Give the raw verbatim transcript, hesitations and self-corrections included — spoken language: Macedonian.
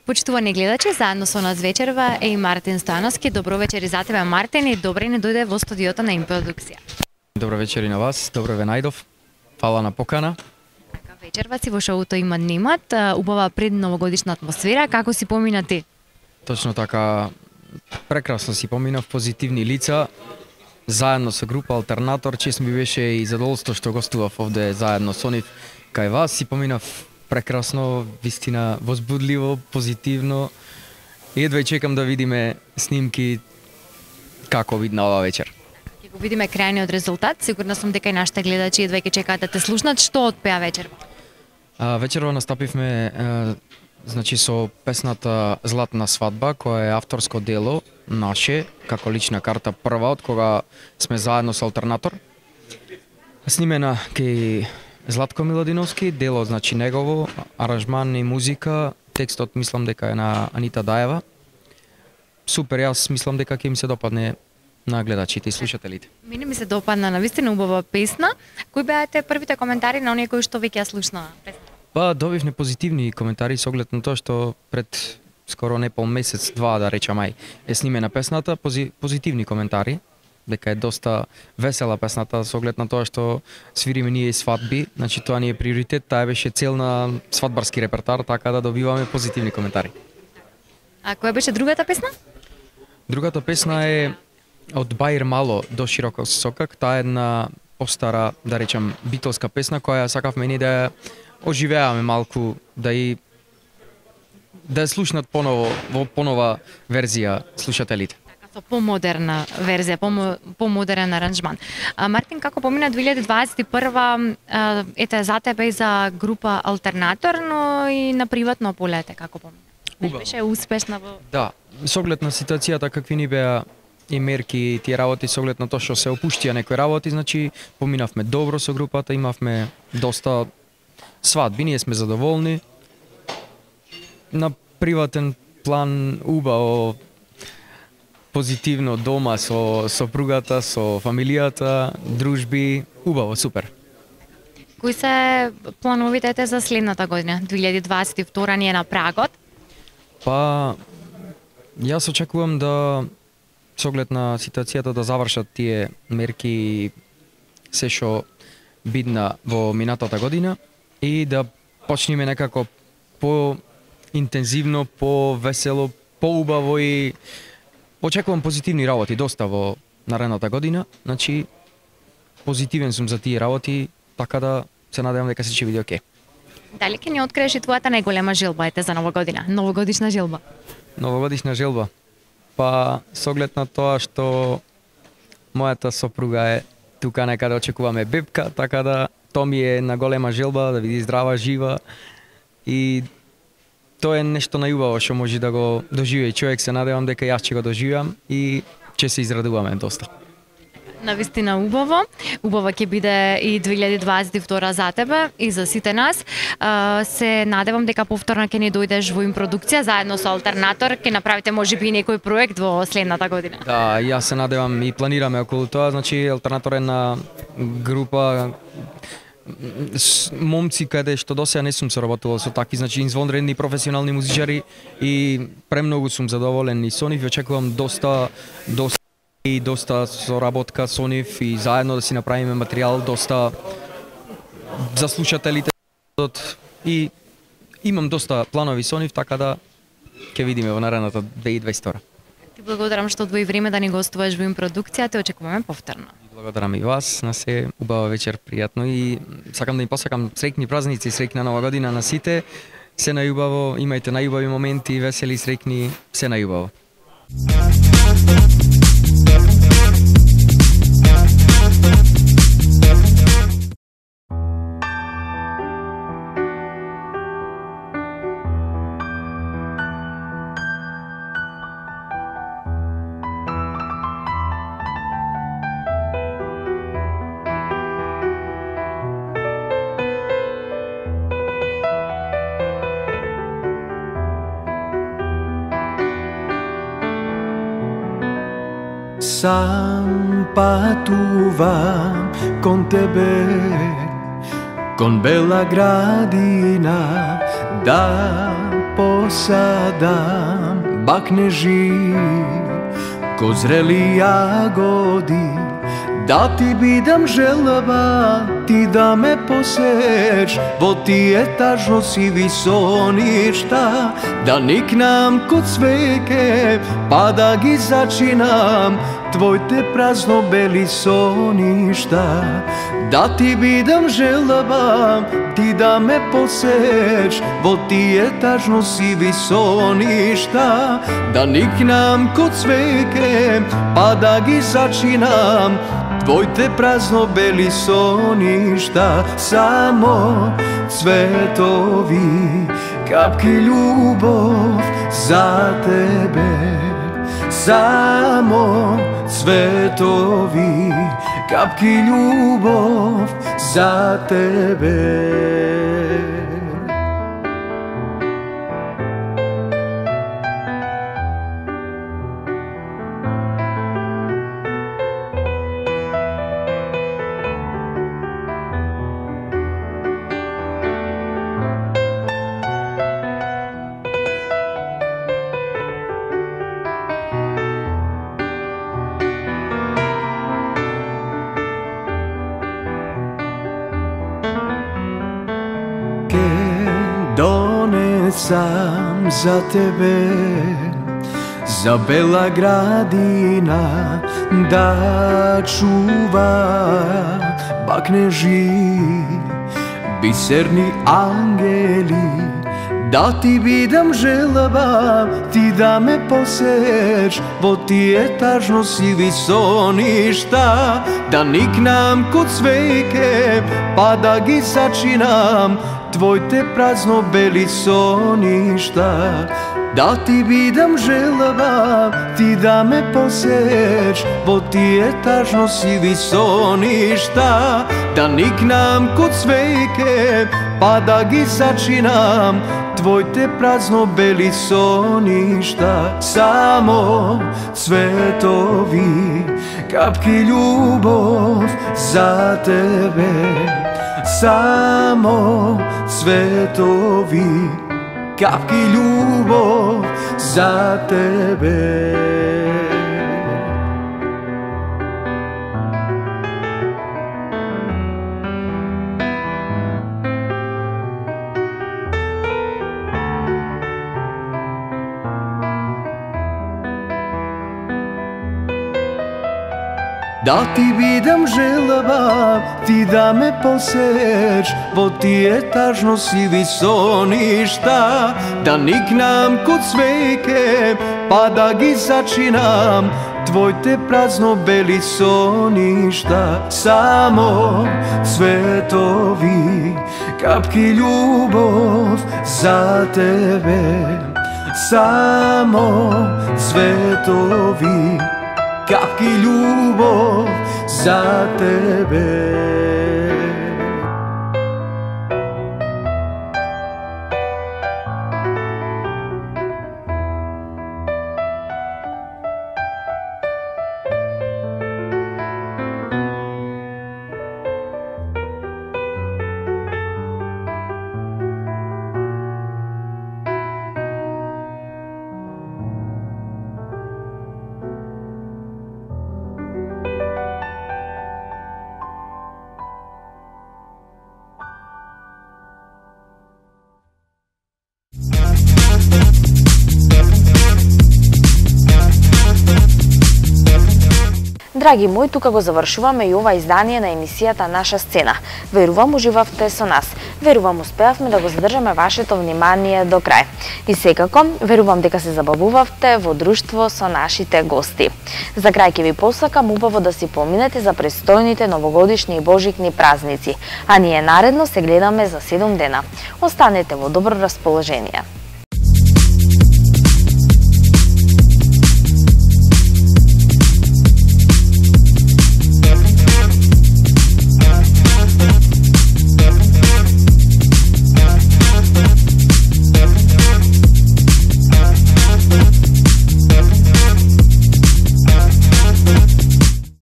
Почитувани гледачи, заедно со нас вечерва е и Мартин Стојановски. Добро вечер и за тебе, Мартин, и добре ни дојде во студиото на Импродукција. Добро вечер и на вас, добро ве најдов. Фала на покана. Така вечерва си во шоуто Има днимат, убава предновогодишна атмосфера. Како си помина ти? Точно така, прекрасно си поминав, позитивни лица, заедно со група Алтернатор. Чест ми беше и задоволство што гостував овде заедно со нив кај вас. Си поминав прекрасно, вистина возбудливо, позитивно. И едва чекам да видиме снимки како видна ова вечер. Ќе го видиме крајниот резултат. Сигурна сум дека и нашите гледачи едва ќе чекаат да те слушнат. Што отпеа вечерва? А, вечерва настапивме а, значи со песната Златна свадба, која е авторско дело наше, како лична карта прва од кога сме заедно со Алтернатор. Снимена кај Златко Миладиновски, дело значи негово, аранжман и музика, текстот мислам дека е на Анита Даева. Супер, јас мислам дека ќе им се допадне на гледачите и слушателите. Мене ми се допадна, навистина убава песна. Кои беа те првите коментари на оние кои што веќе ја слушнаа песната? Па добивме позитивни коментари со оглед на тоа што пред скоро не пол месец, два да речам ај, е снимена песната, пози, позитивни коментари, дека е доста весела песната со оглед на тоа што свириме ние свадби, значи тоа ни е приоритет, таа беше цел на свадбарски репертоар, така да добиваме позитивни коментари. А која беше другата песна? Другата песна е од Баир Мало до Широко сокак, таа е една постара, да речам, битолска песна која сакавме ние да ја оживеаме малку, да и да ја слушнат поново во понова верзија слушателите. Со помодерна верзија, помо, помодерен аранжман. А, Мартин, како помина две илјади дваесет и прва, а, ете за тебе и за група Алтернатор, но и на приватно полете, како помина? Убаво. Беше успешна во... Да, со оглед на ситуацијата какви ни беа и мерки и тие работи, со оглед на тоа што се опуштија некои работи, значи поминавме добро со групата, имавме доста свадби, ние сме задоволни. На приватен план убаво, позитивно дома со сопругата, со фамилијата, дружби, убаво, супер. Кои се плановите за следната година? две илјади дваесет и втора ни е на прагот. Па, јас очекувам да, со оглед на ситуацијата, да завршат тие мерки се што бидна во минатата година и да почнеме некако по-интензивно, по-весело, по-убаво и очекувам позитивни работи доста во наредната година. Значи, позитивен сум за тие работи, така да се надевам дека се ќе биде окей. Дали ќе ни откриеш и твојата најголема желба ете за нова година? Новогодишна желба? Новогодишна желба? Па, со оглед на тоа што мојата сопруга е тука некаде, очекуваме бебка, така да тоа ми е на голема желба, да види здрава, жива и тоа е нешто најубаво што може да го доживее човек, се надевам дека јас ќе го доживеам и ќе се израдуваме доста. Навистина убаво. Убава ќе биде и две илјади дваесет и втора за тебе и за сите нас. А, се надевам дека повторно ќе ни дојдеш во Импродукција заедно со Алтернатор, ќе направите можеби и некој проект во следната година. Да, јас се надевам и планираме околу тоа, значи Алтернатор е на група момци каде што досега не сум соработувал со такви, значи извонредни професионални музичари и премногу сум задоволен и со нив, очекувам доста доста и доста соработка со нив и заедно да си направиме материјал доста за слушателите и имам доста планови со нив, така да ќе видиме во наредната две илјади дваесет и втора. Ти благодарам што одвои време да ни гостуваш во Импродукција, те очекуваме повторно. Благодарам и вас, на се убава вечер, пријатно и сакам да им посакам среќни празници, среќна нова година на сите. Се најубаво, имајте најубави моменти, весели, среќни, се најубаво. Сам патувам кон тебе, кон бела градина, да посадам бакнежи ко зрели јагоди, да ти бидам желба, ти да ме посееш во тие тажно сиви соништа, да никнам ко цвеќе, па да ги зачинам твоите празно бели соништа. Да ти бидам желба, ти да ме посееш во тие тажно сиви соништа, да никнам ко цвеќе, па да ги зачинам твоите празно бели соништа. Само цветови, капки љубов за тебе. Само цветови, капки љубов за тебе. Донесам за тебе, за бела градина да чува бакнежи, бисерни ангели, да ти бидам желба, ти да ме посееш во тие тажно сиви соништа, да никнам ко цвеќе, па да ги зачинам твоите празно бели соништа. Да ти бидам желба, ти да ме посееш во тие тажно сиви соништа, да никнам ко цвеќе, па да ги зачинам твоите празно бели соништа. Само цветови, капки љубов за тебе. Само цветови, капки љубов за тебе. Да ти бидам желба, ти да ме посееш во тие тажно сиви соништа, да никнам ко цвеќе, па да ги зачинам твоите празно бели соништа. Само цветови, капки љубов за тебе. Само цветови, капки љубов за тебе. Драги мои, тука го завршуваме и ова издание на емисијата Наша сцена. Верувам уживавте со нас. Верувам успеавме да го задржаме вашето внимание до крај. И секако, верувам дека се забавувавте во друштво со нашите гости. За крај ќе ви посакам убаво да си поминете за престојните новогодишни и божикни празници, а ние наредно се гледаме за седум дена. Останете во добро расположение.